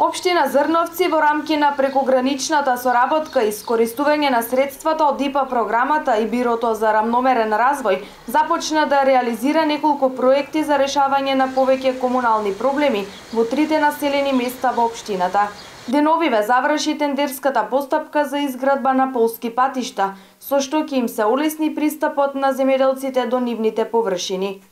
Општина Зрновци во рамки на прекограничната соработка и искористување на средствата од ИПА програмата и Бирото за рамномерен развој започна да реализира неколку проекти за решавање на повеќе комунални проблеми во трите населени места во општината. Деновиве заврши тендерската постапка за изградба на полски патишта, со што ќе им се олесни пристапот на земјоделците до нивните површини.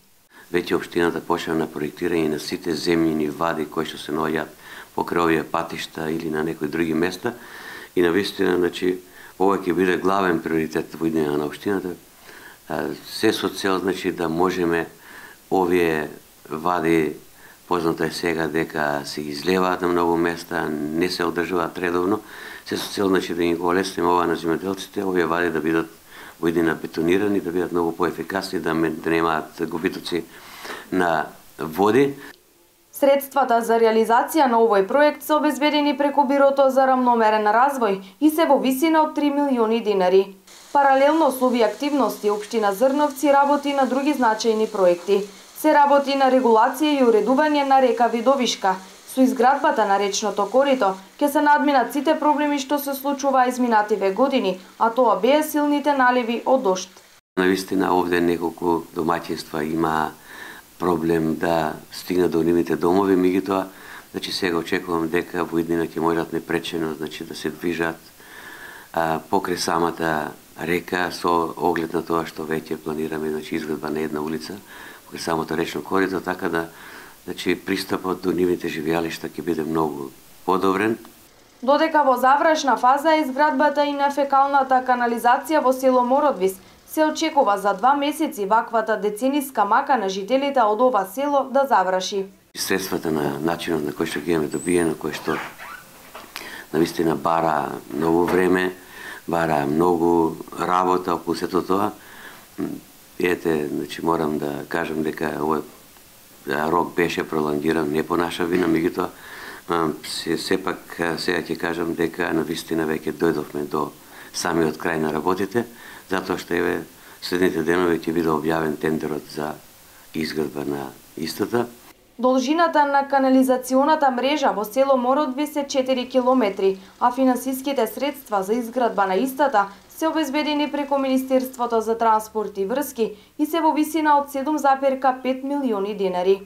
Веќе општината почна на проектирање на сите земјини вади кои што се наоѓаат покрај овие патишта или на некои други места и навистина, значи, ова ќе биде главен приоритет во идења на општината. Се со цел, значи, да можеме овие вади, познато е сега дека се излеваат на многу места, не се одржуваат редовно, се со цел, значи, да ги го олесниме ова на земјоделците, овие вади да бидат во идења бетонирани, да бидат многу поефикасни, да немаат губитоци на води. Средствата за реализација на овој проект се обезбедени преку Бирото за рамномерен развој и се во висина од 3 милиони динари. Паралелно со овие активности, општина Зрновци работи на други значајни проекти. Се работи на регулација и уредување на река Видовишка. Со изградбата на речното корито ќе се надминат сите проблеми што се случува изминативе години, а тоа беа силните наливи од дожд. Навистина овде неколку домаќинства има проблем да стигнат до нивните домови, меѓутоа, значи сега очекувам дека во иднина ќе можат непречено, значи да се движат покрај самата река со оглед на тоа што веќе планираме, значи изградба на една улица покрај самото речно корито, така да, значи пристапот до нивните живеалишта ќе биде многу подобрен. Додека во завршна фаза е изградбата и на фекалната канализација во село Мородвис, се очекува за 2 месеци ваквата децениска мака на жителите од ова село да заврши. Средствата на начинот на кој што ги имаме добиено, кој што навистина бара многу време, бара многу работа околу сето тоа. Ете, значи морам да кажам дека овој рок беше пролонгиран не по наша вина, меѓутоа сепак сега ќе кажам дека навистина веќе дојдовме до самиот крај на работите, затоа што еве следните денови ќе биде објавен тендерот за изградба на истата. Должината на канализационата мрежа во село Мородвис е 4 километри, а финансиските средства за изградба на истата се обезбедени преку Министерството за транспорт и врски и се во висина од 7,5 милиони динари.